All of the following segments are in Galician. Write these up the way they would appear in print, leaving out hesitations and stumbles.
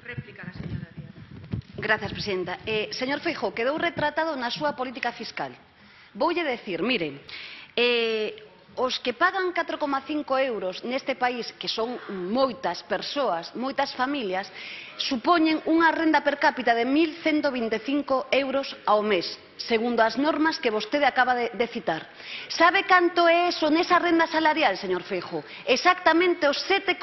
Réplica a señora Díaz. Gracias, presidenta. Señor Feijóo, quedou retratado na súa política fiscal. Voulle decir, mire, os que pagan 4,5 euros neste país, que son moitas persoas, moitas familias, supoñen unha renda per cápita de 1.125 euros ao mes, segundo as normas que vostede acaba de citar. Sabe canto é eso nesa renda salarial, señor Feijóo? Exactamente o 7,2%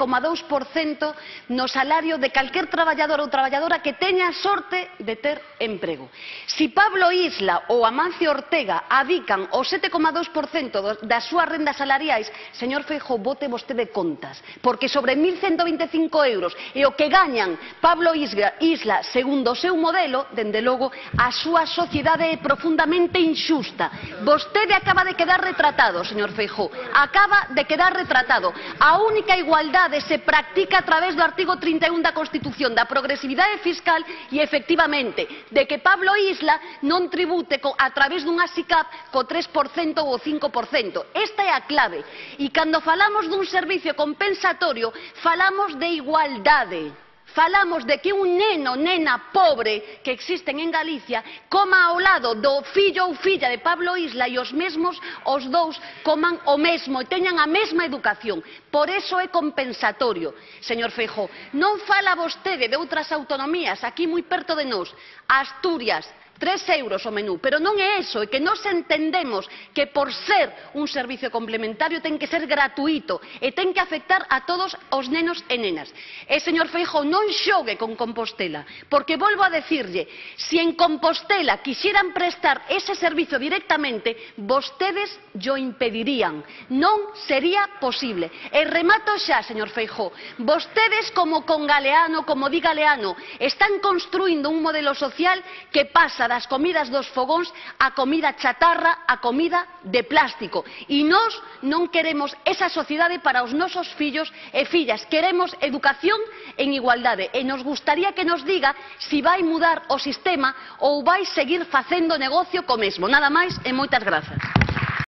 no salario de calquer traballador ou traballadora que teña a sorte de ter emprego. Si Pablo Isla ou Amancio Ortega adican o 7,2% das súas rendas salariais, señor Feijóo, bote vostede contas, porque sobre 1.125 euros e o que gañan Pablo Isla, segundo o seu modelo, dende logo, a súa sociedade é profundamente inxusta. Vostede acaba de quedar retratado, señor Feijóo, acaba de quedar retratado. A única igualdade se practica a través do artigo 31 da Constitución, da progresividade fiscal e, efectivamente, de que Pablo Isla non tribute a través dunha SICAP co 3% ou o 5%. Esta é a clave. E cando falamos dun servicio compensatorio, falamos de igualdade. Falamos de que un neno, nena pobre que existen en Galicia coma ao lado do fillo ou filla de Pablo Isla e os mesmos, os dous, coman o mesmo e teñan a mesma educación. Por eso é compensatorio, señor Feijóo. Non fala vostede de outras autonomías, aquí moi perto de nós, Asturias, 3 euros o menú, pero non é eso, é que nós entendemos que por ser un servicio complementario ten que ser gratuito e ten que afectar a todos os nenos e nenas. E, señor Feijóo, non xogue con Compostela, porque volvo a decirlle, se en Compostela quixeran prestar ese servicio directamente, vostedes llo impedirían, non sería posible. E remato xa, señor Feijóo, vostedes como con Galeano, como di Galeano, están construindo un modelo social que pasa das comidas dos fogóns a comida chatarra, a comida de plástico. E nós non queremos esa sociedade para os nosos fillos e fillas. Queremos educación en igualdade. E nos gustaría que nos diga se vai mudar o sistema ou vai seguir facendo negocio co mesmo. Nada máis e moitas grazas.